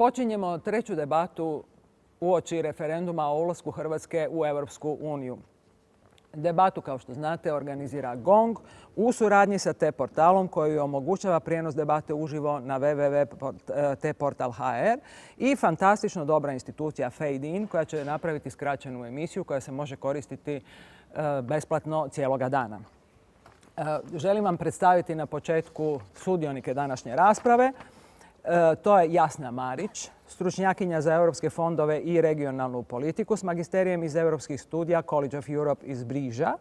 Počinjemo treću debatu uoči referenduma o ulasku Hrvatske u Europsku uniju. Debatu, kao što znate, organizira GONG u suradnji sa T-portalom koji omogućava prijenos debate uživo na www.tportal.hr i fantastično dobra institucija Fade In koja će napraviti skraćenu emisiju koja se može koristiti besplatno cijeloga dana. Želim vam predstaviti na početku sudionike današnje rasprave. To je Jasna Marić, stručnjakinja za europske fondove i regionalnu politiku s magisterijem iz europskih studija College of Europe iz Briža.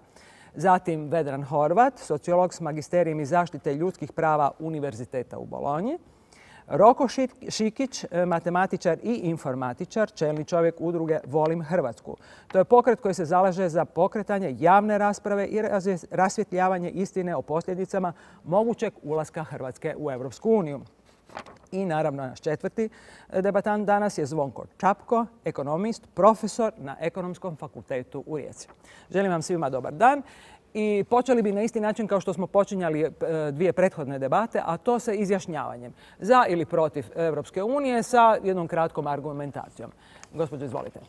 Zatim Vedran Horvat, sociolog s magisterijem iz zaštite ljudskih prava Univerziteta u Bolonji. Roko Šikić, matematičar i informatičar, čelni čovjek udruge Volim Hrvatsku. To je pokret koji se zalaže za pokretanje javne rasprave i rasvjetljavanje istine o posljedicama mogućeg ulaska Hrvatske u Europsku uniju. I naravno naš četvrti debatant danas je Zvonko Čapko, ekonomist, profesor na Ekonomskom fakultetu u Rijeci. Želim vam svima dobar dan i počeli bi na isti način kao što smo počinjali dvije prethodne debate, a to sa izjašnjavanjem za ili protiv Europske unije sa jednom kratkom argumentacijom. Gospođo, izvolite.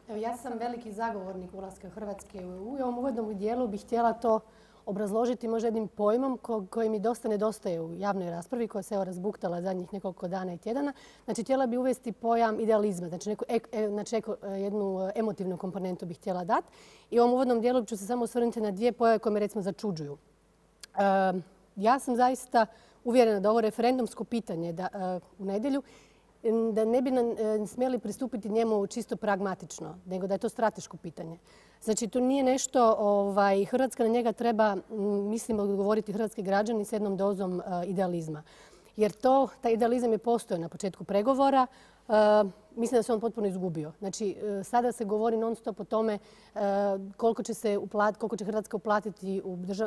Evo, ja sam veliki zagovornik ulaska Hrvatske u EU i u ovom uvodnom dijelu bih htjela to obrazložiti možda jednim pojmom koji mi dosta nedostaje u javnoj raspravi koja se razbuktala zadnjih nekoliko dana i tjedana. Znači, htjela bi uvesti pojam idealizma, znači jednu emotivnu komponentu bih htjela dati. I u ovom uvodnom dijelu ću se samo osvrnuti na dvije pojave koje me recimo začuđuju. Ja sam zaista uvjerena da ovo referendumsko pitanje u nedjelju da ne bi smjeli pristupiti njemu čisto pragmatično, nego da je to strateško pitanje. Znači, to nije nešto, Hrvatska na njega treba, mislim, odgovoriti hrvatski građani s jednom dozom idealizma. Jer taj idealizam je postojao na početku pregovora. Mislim da se on potpuno izgubio. Znači, sada se govori non stop o tome koliko će Hrvatska uplatiti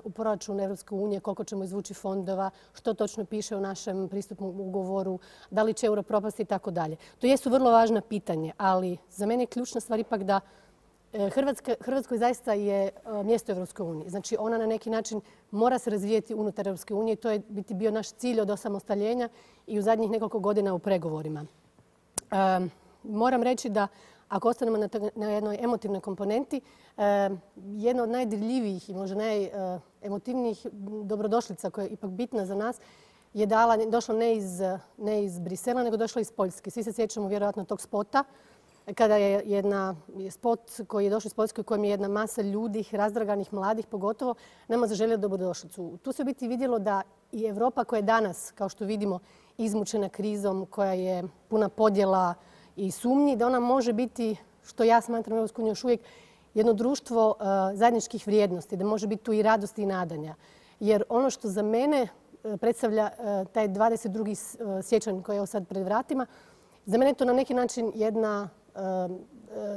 u proračun Europske unije, koliko ćemo izvući fondova, što točno piše u našem pristupnom ugovoru, da li će euro propasti i tako dalje. To jesu vrlo važna pitanja, ali za mene je ključna stvar ipak da Hrvatskoj zaista je mjesto Europske unije. Znači, ona na neki način mora se razvijeti unutar Europske unije i to je bio naš cilj od osamostaljenja i u zadnjih nekoliko godina u pregovorima. Moram reći da ako ostanemo na jednoj emotivnoj komponenti, jedna od najdirljivijih i možda najemotivnijih dobrodošlica koja je ipak bitna za nas je došla ne iz Brisela, nego došla iz Poljske. Svi se sjećamo vjerojatno tog spota kada je spot koji je došao iz Poljske u kojem je jedna masa ljudi, razdraganih, mladih pogotovo, nama zaželio dobrodošlicu. Tu se u biti vidjelo da i Europa koja je danas, kao što vidimo, izmučena krizom, koja je puna podjela i sumnji, da ona može biti, što ja smatram Europsku uniju još uvijek, jedno društvo zajedničkih vrijednosti, da može biti tu i radosti i nadanja. Jer ono što za mene predstavlja taj 22. siječanj koji je sad pred vratima, za mene je to na neki način jedna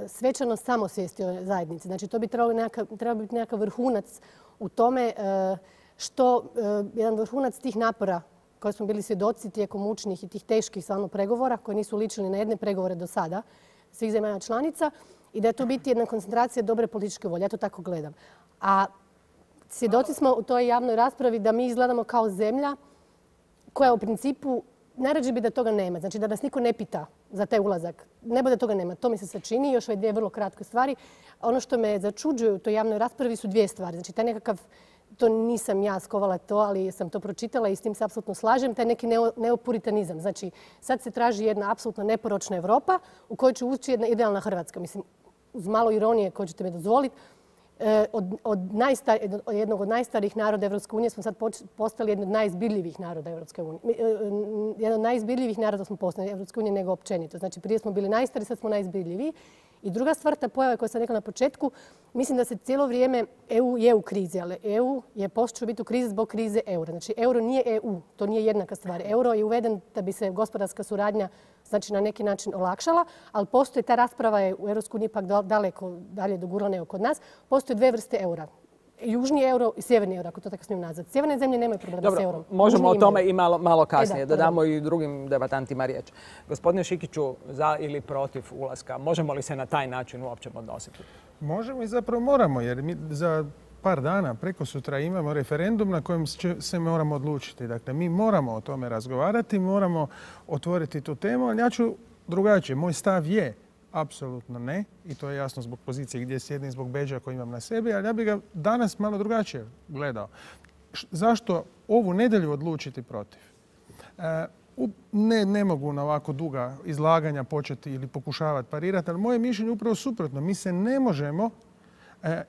svečanost samosvijesti o zajednici. Znači, to bi trebao biti nekakav vrhunac u tome jedan vrhunac tih napora koje smo bili svjedoci tijekom mučnih i tih teških stvarno pregovora koji nisu ličili na jedne pregovore do sada svih zemalja članica i da je to biti jedna koncentracija dobre političke volje. Ja to tako gledam. A svjedoci smo u toj javnoj raspravi da mi izgledamo kao zemlja koja u principu najrađe bi da toga nema. Znači da nas niko ne pita za taj ulazak. Ne bude toga nema. To mi se sad čini. Još ove dvije vrlo kratke stvari. Ono što me začuđuje u toj javnoj raspravi su dvije stvari. Znači taj nekakav, to nisam ja skovala to, ali sam to pročitala i s tim se apsolutno slažem, taj neki neopuritanizam. Znači sad se traži jedna apsolutno neporočna Europa u kojoj će ući jedna idealna Hrvatska. Mislim, uz malo ironije koju ćete mi dozvoliti, od jednog od najstarijih naroda Europske unije smo sad postali jedan od najizbirljivih naroda Europske unije. Jedan od najizbirljivih naroda smo postali Europske unije nego općenito. Znači prije smo bili najstariji, sad smo najizbirljiviji. I druga stvar, ta pojava koja sam rekla na početku, mislim da se cijelo vrijeme EU je u krizi, ali EU je počeo biti u krizi zbog krize eura. Znači euro nije EU, to nije jednaka stvar. Euro je uveden da bi se gospodarska suradnja znači na neki način olakšala, ali postoji ta rasprava je u EU ipak daleko dalje dogurala nego kod nas. Postoje dvije vrste eura. Južni euro i sjeverni euro, ako to tako smijem nazvati. Sjeverne zemlje nemaju problema s eurom. Možemo o tome i malo kasnije, da damo i drugim debatantima riječ. Gospodine Šikiću, za ili protiv ulaska, možemo li se na taj način uopće odnositi? Možemo i zapravo moramo, jer mi za par dana, preko sutra imamo referendum na kojem se moramo odlučiti. Dakle, mi moramo o tome razgovarati, moramo otvoriti tu temu, ali ja ću drugačije. Moj stav je apsolutno ne, i to je jasno zbog pozicije gdje sjedim, zbog bedža koji imam na sebi, ali ja bih ga danas malo drugačije gledao. Zašto ovu nedjelju odlučiti protiv? Ne mogu na ovako duga izlaganja početi ili pokušavati parirati, ali moje mišljenje je upravo suprotno. Mi se ne možemo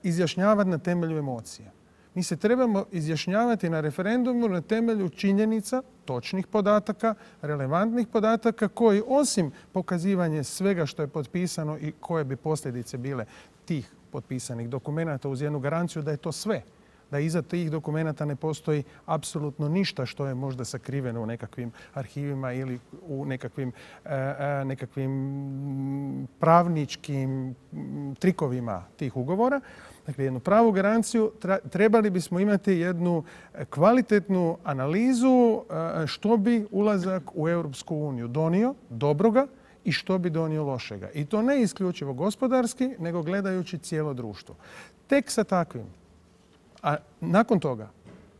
izjašnjavati na temelju emocija. Mi se trebamo izjašnjavati na referendumu na temelju činjenica, točnih podataka, relevantnih podataka koji osim pokazivanja svega što je potpisano i koje bi posljedice bile tih potpisanih dokumenata uz jednu garanciju da je to sve. Da iza tih dokumenata ne postoji apsolutno ništa što je možda sakriveno u nekakvim arhivima ili u nekakvim pravničkim trikovima tih ugovora. Dakle, jednu pravu garanciju. Trebali bismo imati jednu kvalitetnu analizu što bi ulazak u Europsku uniju donio dobroga i što bi donio lošega. I to ne isključivo gospodarski, nego gledajući cijelo društvo. Tek sa takvim. A nakon toga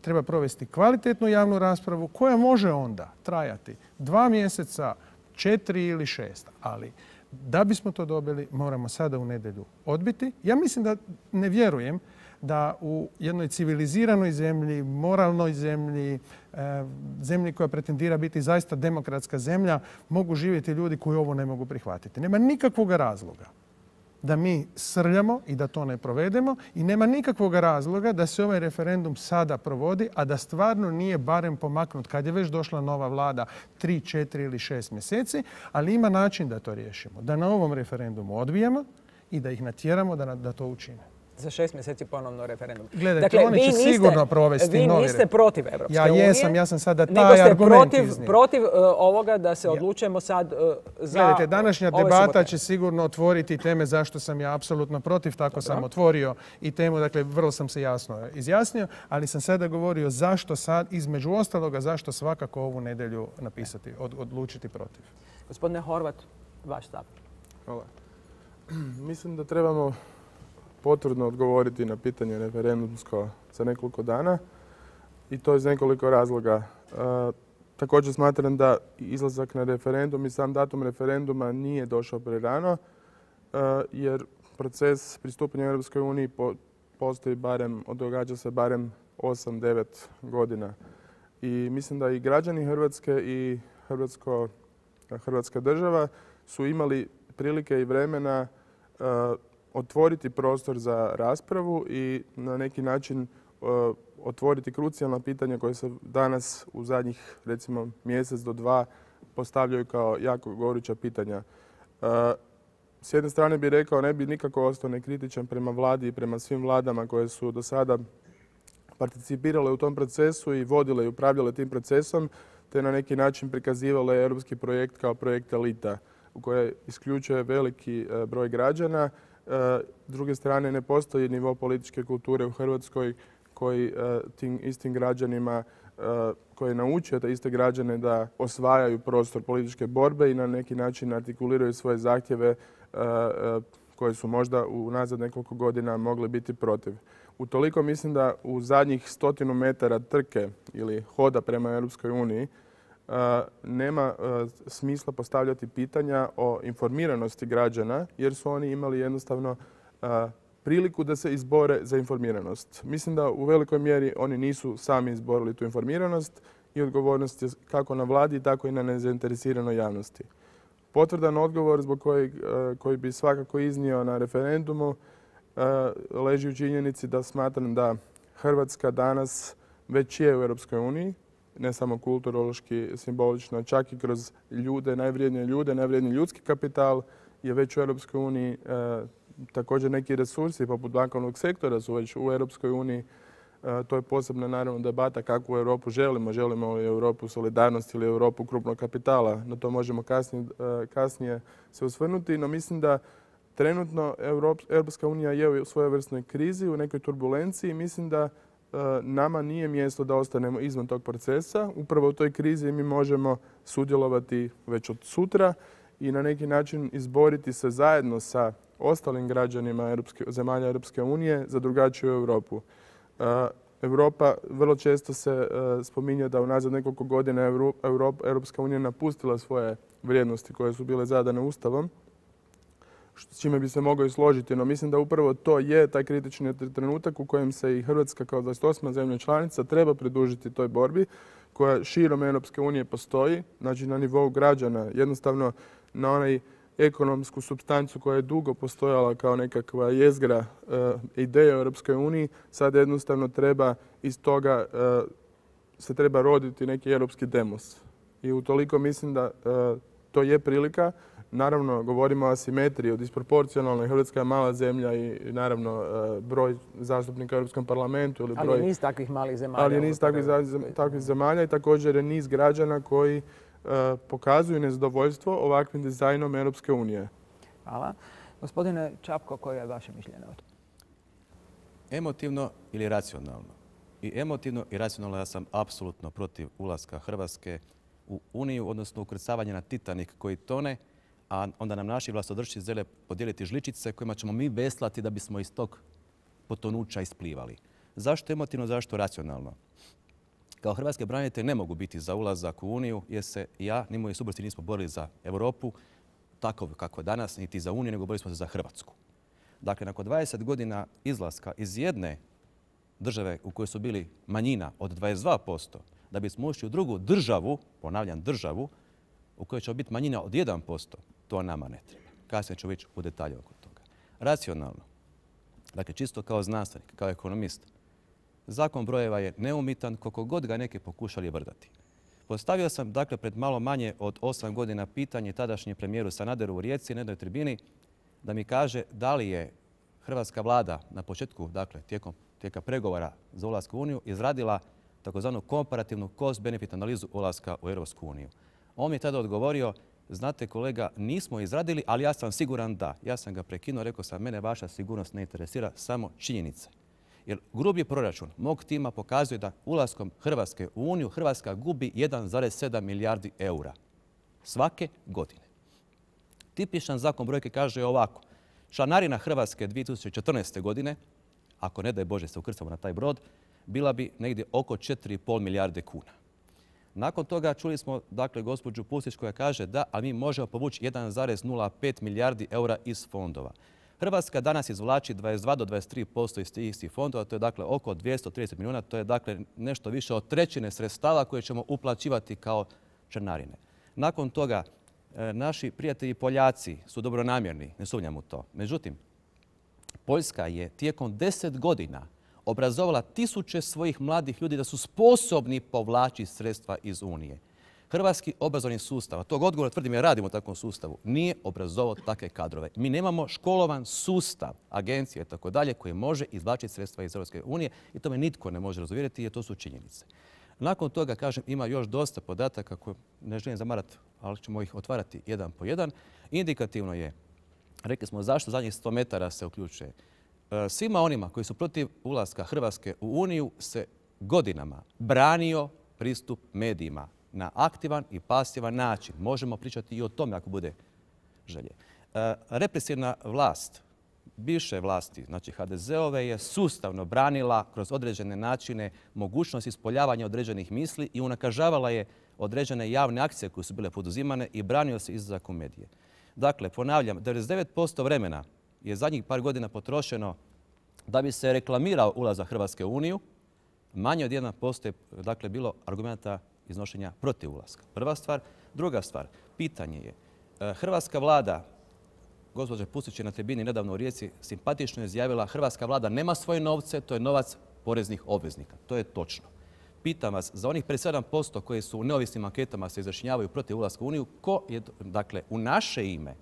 treba provesti kvalitetnu javnu raspravu koja može onda trajati 2 mjeseca, 4 ili 6. Ali da bismo to dobili, moramo sada u nedjelju odbiti. Ja mislim da ne vjerujem da u jednoj civiliziranoj zemlji, moralnoj zemlji, zemlji koja pretendira biti zaista demokratska zemlja, mogu živjeti ljudi koji ovo ne mogu prihvatiti. Nema nikakvog razloga da mi srljamo i da to ne provedemo i nema nikakvog razloga da se ovaj referendum sada provodi, a da stvarno nije barem pomaknut kad je već došla nova vlada 3, 4 ili 6 mjeseci, ali ima način da to riješimo. Da na ovom referendumu odbijemo i da ih natjeramo da to učine. Za 6 mjeseci ponovno referendum. Gledajte, dakle, oni će sigurno provesti novi referendum. Vi niste protiv Evropske unije. Ja sam sada taj argument iznio. Nego ste protiv ovoga da se odlučujemo sad za... Gledajte, današnja debata će sigurno otvoriti teme zašto sam ja apsolutno protiv. Tako sam otvorio i temu, dakle, vrlo sam se jasno izjasnio, ali sam sada govorio zašto sad, između ostaloga, zašto svakako ovu nedjelju napisati, odlučiti protiv. Gospodine Horvat, vaš stav. Hvala. Mislim da trebamo potvrdno odgovoriti na pitanje referendumsko za nekoliko dana i to iz nekoliko razloga. Također smatram da izlazak na referendum i sam datum referenduma nije došao prerano jer proces pristupanja Europskoj uniji postoji događa se barem 8-9 godina. I mislim da i građani Hrvatske i Hrvatska država su imali prilike i vremena otvoriti prostor za raspravu i na neki način otvoriti krucijalna pitanja koje se danas u zadnjih recimo mjesec do 2 postavljaju kao jako goruća pitanja. S jedne strane bih rekao ne bi nikako ostao nekritičan prema vladi i prema svim vladama koje su do sada participirale u tom procesu i vodile i upravljale tim procesom te na neki način prikazivale europski projekt kao projekt elita u kojoj isključuje veliki broj građana. S druge strane, ne postoji nivo političke kulture u Hrvatskoj koji tim istim građanima, koji je naučio te iste građane da osvajaju prostor političke borbe i na neki način artikuliraju svoje zahtjeve koje su možda unazad nekoliko godina mogli biti protiv. Utoliko mislim da u zadnjih 100 metara trke ili hoda prema Europskoj uniji nema smisla postavljati pitanja o informiranosti građana jer su oni imali jednostavno priliku da se izbore za informiranost. Mislim da u velikoj mjeri oni nisu sami izborili tu informiranost i odgovornost je kako na vladi, tako i na nezainteresiranoj javnosti. Potvrdan odgovor zbog koji bi svakako iznio na referendumu leži u činjenici da smatram da Hrvatska danas već je u Europskoj uniji, ne samo kulturološki, simbolično, čak i kroz najvrijedniji ljudski kapital je već u Europskoj uniji. Također neki resursi poput bankovnog sektora su već u Europskoj uniji. To je posebna naravno debata kakvu Europu želimo. Želimo li Europu solidarnosti ili Europu krupnog kapitala. Na to možemo kasnije se osvrnuti. No mislim da trenutno Europska unija je u svojevrsnoj krizi, u nekoj turbulenciji. Mislim da nama nije mjesto da ostanemo izvan tog procesa. Upravo u toj krizi mi možemo sudjelovati već od sutra i na neki način izboriti se zajedno sa ostalim građanima zemalja Europske unije za drugačiju Europu. Europa vrlo često se spominje da unazad nekoliko godina Europska unija napustila svoje vrijednosti koje su bile zadane Ustavom, s čime bi se mogao i složiti. No mislim da upravo to je taj kritični trenutak u kojem se i Hrvatska kao 28. zemlja članica treba pridružiti toj borbi koja širom Europske unije postoji, znači na nivou građana, jednostavno na onaj ekonomsku supstancu koja je dugo postojala kao nekakva jezgra ideje u Europskoj uniji, sad jednostavno treba iz toga se treba roditi neki europski demos. I utoliko mislim da to je prilika. Naravno, govorimo o asimetriji, o disproporcionalnoj. Hrvatska je mala zemlja i naravno broj zastupnika u Europskom parlamentu. Ali je niz takvih malih zemalja. Ali je niz takvih zemalja i također je niz građana koji pokazuju nezadovoljstvo ovakvim dizajnom Europske unije. Hvala. Gospodine Čapko, koje je vaše mišljenje o tome? Emotivno ili racionalno? I emotivno i racionalno ja sam apsolutno protiv ulaska Hrvatske u Uniju, odnosno ukrcavanje na Titanic koji tone, a onda nam naši vlastodršci žele podijeliti žličice kojima ćemo mi veslati da bismo iz tog potonuća isplivali. Zašto emotivno, zašto racionalno? Kao hrvatski branitelji ne mogu biti za ulazak u Uniju jer se ja ni moji suborci nismo borili za Europu, tako kako je danas, niti za Uniju, nego borili smo se za Hrvatsku. Dakle, nakon 20 godina izlaska iz jedne države u kojoj su bili manjina od 22%, da bismo ušli u drugu državu, ponavljam državu, u kojoj će biti manjina od 1%, to nama ne treba. Kasnije ću ići u detalje oko toga. Racionalno, dakle čisto kao znanstvenik, kao ekonomist, zakon brojeva je neumitan koliko god ga neki pokušali vrdati. Postavio sam dakle pred malo manje od 8 godina pitanje tadašnjem premijeru Sanaderu u Rijeci na jednoj tribini da mi kaže da li je hrvatska vlada na početku, dakle tijekom pregovora za ulazak u Uniju, izradila takozvanu komparativnu cost-benefit analizu ulaska u Europsku uniju. On mi je tada odgovorio, znate kolega, nismo izradili, ali ja sam siguran da. Ja sam ga prekinuo, rekao sam, mene vaša sigurnost ne interesira, samo činjenice. Jer grubi proračun mog tima pokazuje da ulaskom Hrvatske u Uniju Hrvatska gubi 1,7 milijardi eura svake godine. Tipičan zakon brojke kaže ovako. Članarina Hrvatske 2014. godine, ako ne daj Bože se ukrcamo na taj brod, bila bi negdje oko 4,5 milijarde kuna. Nakon toga čuli smo dakle gospođu Pusić koja kaže da, ali mi možemo povući 1,05 milijardi eura iz fondova. Hrvatska danas izvlači 22 do 23% iz tih istih fondova, to je dakle oko 230 milijuna, to je dakle nešto više od trećine sredstava koje ćemo uplaćivati kao članarine. Nakon toga naši prijatelji Poljaci su dobronamjerni, ne sumnjam u to. Međutim, Poljska je tijekom 10 godina obrazovala tisuće svojih mladih ljudi da su sposobni povlačiti sredstva iz Unije. Hrvatski obrazovni sustav, a tog odgovora tvrdim jer radimo u takvom sustavu, nije obrazovao takve kadrove. Mi nemamo školovan sustav, agencije i tako dalje, koji može izvlačiti sredstva iz Europske unije i to me nitko ne može razuvjeriti jer to su činjenice. Nakon toga, kažem, ima još dosta podataka koje ne želim zamarati, ali ćemo ih otvarati jedan po jedan. Indikativno je, rekli smo zašto zadnjih 100 metara se uključuje. Svima onima koji su protiv ulaska Hrvatske u Uniju se godinama branio pristup medijima na aktivan i pasivan način. Možemo pričati i o tome ako bude želje. Represivna vlast, bivše vlasti, znači HDZ-ove, je sustavno branila kroz određene načine mogućnost ispoljavanja određenih misli i unakažavala je određene javne akcije koje su bile poduzimane i branio se izlazak u medije. Dakle, ponavljam, 99% vremena je zadnjih par godina potrošeno da bi se reklamirao ulazak Hrvatske u Uniju. Manje od 1% je dakle bilo argumenta iznošenja protiv ulaska. Prva stvar. Druga stvar, pitanje je, hrvatska vlada, gospođa Pusić je na tribini nedavno u Rijeci simpatično izjavila, hrvatska vlada nema svoje novce, to je novac poreznih obveznika. To je točno. Pitam vas, za onih 57% koji su u neovisnim anketama se izjašnjavaju protiv ulaska u Uniju, ko je, dakle, u naše ime,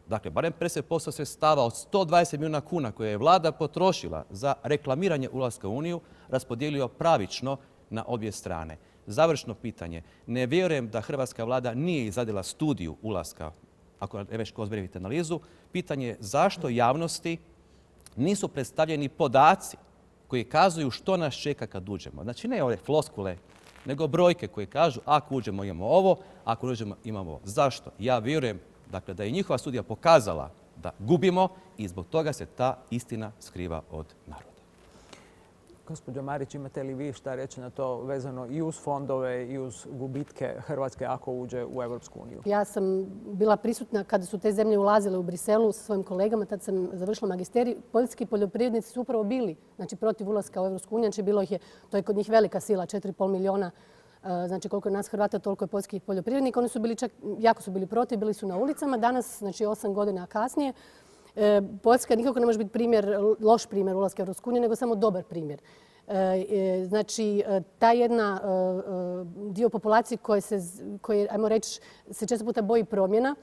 dakle, barem 50% sredstava od 120 milijuna kuna koje je vlada potrošila za reklamiranje ulaska u Uniju, raspodijelio pravično na obje strane. Završno pitanje. Ne vjerujem da hrvatska vlada nije izradila studiju ulaska, ako ne već cost-benefit analizu. Pitanje je zašto javnosti nisu predstavljeni podaci koji kazuju što nas čeka kad uđemo. Znači ne ove floskule, nego brojke koje kažu ako uđemo imamo ovo, ako uđemo imamo ovo. Zašto? Ja vjerujem dakle, da je njihova studija pokazala da gubimo i zbog toga se ta istina skriva od naroda. Gospođo Marić, imate li vi šta reći na to vezano i uz fondove i uz gubitke Hrvatske ako uđe u Europsku uniju? Ja sam bila prisutna kada su te zemlje ulazile u Briselu sa svojim kolegama. Tad sam završila magisterij. Poljski poljoprivrednici su upravo bili protiv ulaska u Europsku uniju. Znači bilo ih je, to je kod njih velika sila, 4,5 milijuna. Znači koliko je nas Hrvata, toliko je poljskih poljoprivrednika. Oni su bili jako su bili protiv, bili su na ulicama. Danas, znači 8 godina kasnije, Poljska nikako ne može biti loš primjer ulaska u Europsku uniju, nego samo dobar primjer. Znači, ta jedna dio populacije koje, ajmo reći, se često puta boji promjena,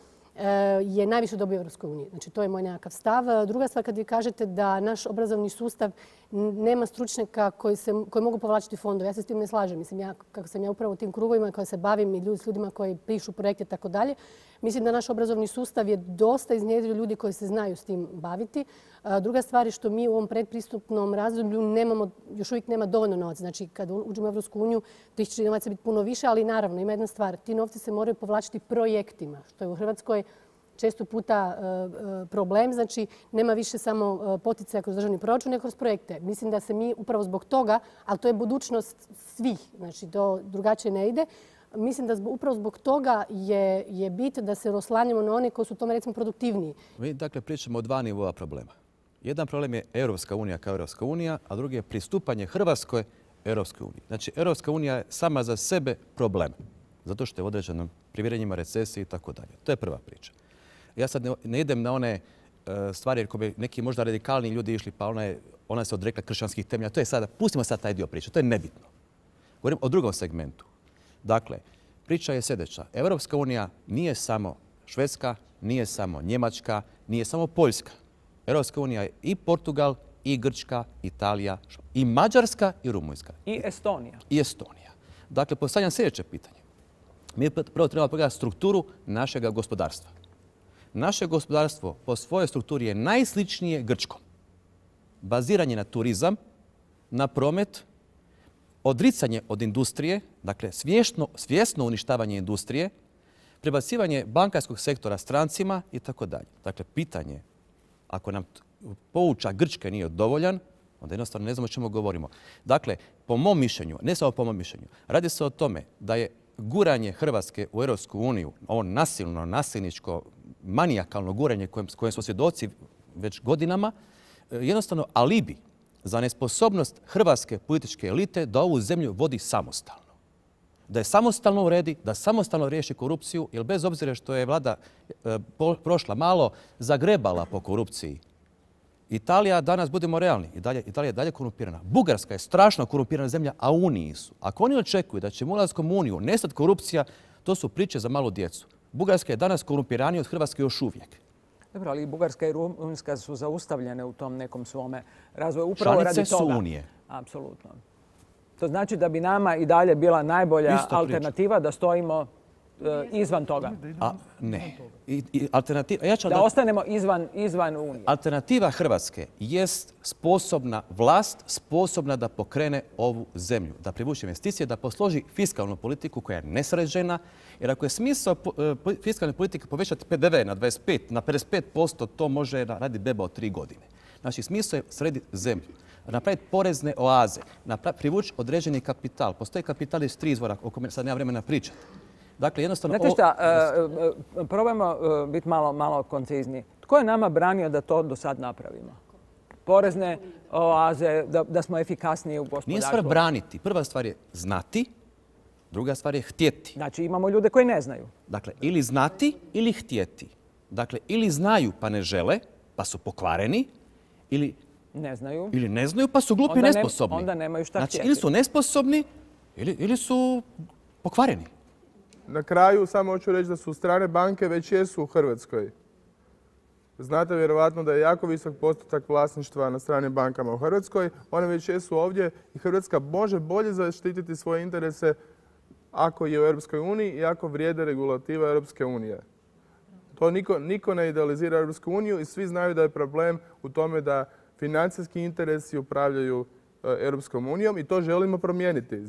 je najviše dobio u Europskoj uniji. Znači, to je moj nekakav stav. Druga stvar, kad vi kažete da naš obrazovni sustav nema stručnjaka koji mogu povlačiti fondove, ja se s tim ne slažem. Mislim, kako sam ja upravo u tim krugovima koja se bavim i s ljudima koji pišu projekte i tako dalje, mislim da naš obrazovni sustav je dosta iznjedrio ljudi koji se znaju s tim baviti. Druga stvar je što mi u ovom predpristupnom razdoblju još uvijek nema dovoljno novaca. Znači, kad uđemo u Europsku uniju, tih će novaca biti puno više, ali naravno ima jedna stvar. Ti novci se moraju povlačiti projektima, što je u Hrvatskoj često puta problem. Znači, nema više samo poticaja kroz državni proračun, nego kroz projekte. Mislim da se mi upravo zbog toga, ali to je budućnost svih, znači to drugačije ne ide, mislim da upravo zbog toga je bit da se oslanjamo na one koji su u tome recimo produktivniji. Mi dakle pričamo o dva nivoa problema. Jedan problem je Europska unija kao Europska unija, a drugi je pristupanje Hrvatskoj Europskoj uniji. Znači, Europska unija je sama za sebe problem, zato što je u određenim primjerenjima recesije i tako dalje. To je prva priča. Ja sad ne idem na one stvari jer ko bi neki možda radikalni ljudi išli, pa ona se odrekla kršćanskih temelja. To je sada, pustimo sad taj dio priče, to je nebitno. Govorim o drugom segmentu. Dakle, priča je sljedeća. Europska unija nije samo Švedska, nije samo Njemačka, nije samo Poljska. Europska unija je i Portugal, i Grčka, Italija, i Mađarska, i Rumunjska. I Estonija. I Estonija. Dakle, postavljam sljedeće pitanje. Mi prvo trebamo pogledati strukturu našega gospodarstva. Naše gospodarstvo po svojoj strukturi je najsličnije grčkom. Baziranje na turizam, na promet, odricanje od industrije, dakle svjesno uništavanje industrije, prebacivanje bankarskog sektora strancima i tako dalje. Dakle, pitanje, ako nam poučak Grčke nije dovoljan, onda jednostavno ne znamo o čemu govorimo. Dakle, po mom mišljenju, ne samo po mom mišljenju, radi se o tome da je guranje Hrvatske u Europsku uniju, ovo nasilničko, manijakalno guranje kojem smo svjedoci već godinama, jednostavno alibi za nesposobnost hrvatske političke elite da ovu zemlju vodi samostalno. Da je samostalno uredi, da samostalno riješi korupciju, jer bez obzira što je vlada prošla malo zagrebala po korupciji, Italija danas, budemo realni, Italija je dalje korumpirana. Bugarska je strašno korumpirana zemlja, a u Uniji su. Ako oni očekuju da će ulaskom u Uniju nestati korupcija, to su priče za malu djecu. Bugarska je danas korumpiranija od Hrvatske još uvijek. Dobro, ali i Bugarska i Rumunjska su zaustavljene u tom nekom svome razvoju. Upravo radi toga. Članice su Unije. Apsolutno. To znači da bi nama i dalje bila najbolja alternativa da stojimo izvan toga. Ne. Da ostanemo izvan Unije. Alternativa Hrvatske jest sposobna vlast, sposobna da pokrene ovu zemlju, da privuče investicije, da posloži fiskalnu politiku koja je nesređena. Jer ako je smisao fiskalne politike povećati PDV na 25, na 55%, to može raditi beba od 3 godine. Znači, smisao je srediti zemlju, napraviti porezne oaze, privući određeni kapital. Postoji kapital iz 3 izvora, o kome sad nema vremena pričati. Dakle, jednostavno... Znate šta, probajmo biti malo koncizni. Tko je nama branio da to do sad napravimo? Porezne oaze, da smo efikasniji u gospodarstvu? Nije stvar braniti. Prva stvar je znati, druga stvar je htjeti. Znači, imamo ljude koji ne znaju. Dakle, ili znati ili htjeti. Dakle, ili znaju pa ne žele, pa su pokvareni, ili ne znaju pa su glupi i nesposobni. Onda nemaju šta htjeti. Znači, ili su nesposobni ili su pokvareni. Na kraju samo hoću reći da su strane banke već jesu u Hrvatskoj. Znate vjerovatno da je jako visok postotak vlasništva na stranim bankama u Hrvatskoj. One već jesu ovdje i Hrvatska može bolje zaštititi svoje interese ako je u Europskoj uniji i ako vrijede regulativa Europske unije. To niko ne idealizira Europsku uniju i svi znaju da je problem u tome da financijski interesi upravljaju Europskom unijom i to želimo promijeniti.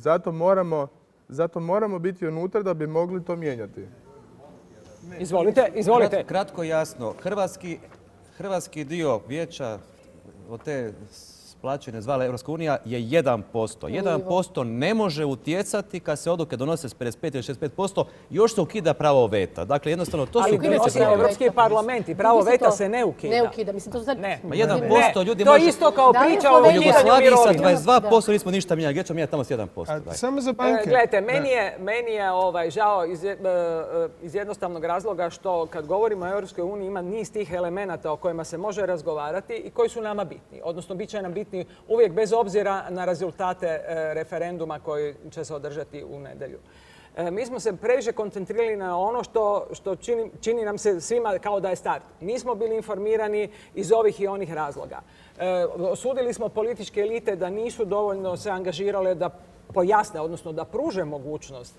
Zato moramo biti unutra da bi mogli to mijenjati. Izvolite. Kratko jasno, hrvatski hrvatski dio vijeća od te plaćene zvala Europska unija je 1%. 1% ne može utjecati kad se odluke donose s 55 ili 65%, još se ukida pravo veta. Dakle, jednostavno, to su... Ali Europski parlament i pravo veta se ne ukida. Ne ukida, mislim, to sad... Ne, 1% ljudi to može... je isto kao priča o U Jugoslaviji sa 22% Da. nismo ništa mijenjali. Gdje ćemo mijenjati tamo s 1%? Samo za banke. Gledajte, meni je žao iz jednostavnog razloga što kad govorimo o Europskoj uniji ima niz tih elemenata o kojima se može razgovarati i koji su nama bitni. Odnosno, bit će nam bitni uvijek bez obzira na rezultate referenduma koji će se održati u nedjelju. Mi smo se previše koncentrirali na ono što čini nam se svima kao da je start. Nismo bili informirani iz ovih i onih razloga. Osudili smo političke elite da nisu dovoljno se angažirale da pojasne, odnosno da pruže mogućnost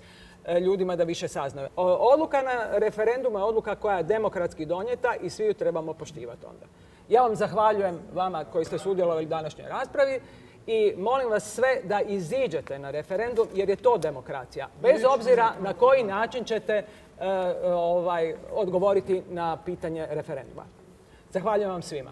ljudima da više saznaju. Odluka na referendumu je odluka koja je demokratski donijeta i svi ju trebamo poštivati onda. Ja vam zahvaljujem vama koji ste sudjelovali u današnjoj raspravi i molim vas sve da iziđete na referendum jer je to demokracija. Bez obzira na koji način ćete odgovoriti na pitanje referenduma. Zahvaljujem vam svima.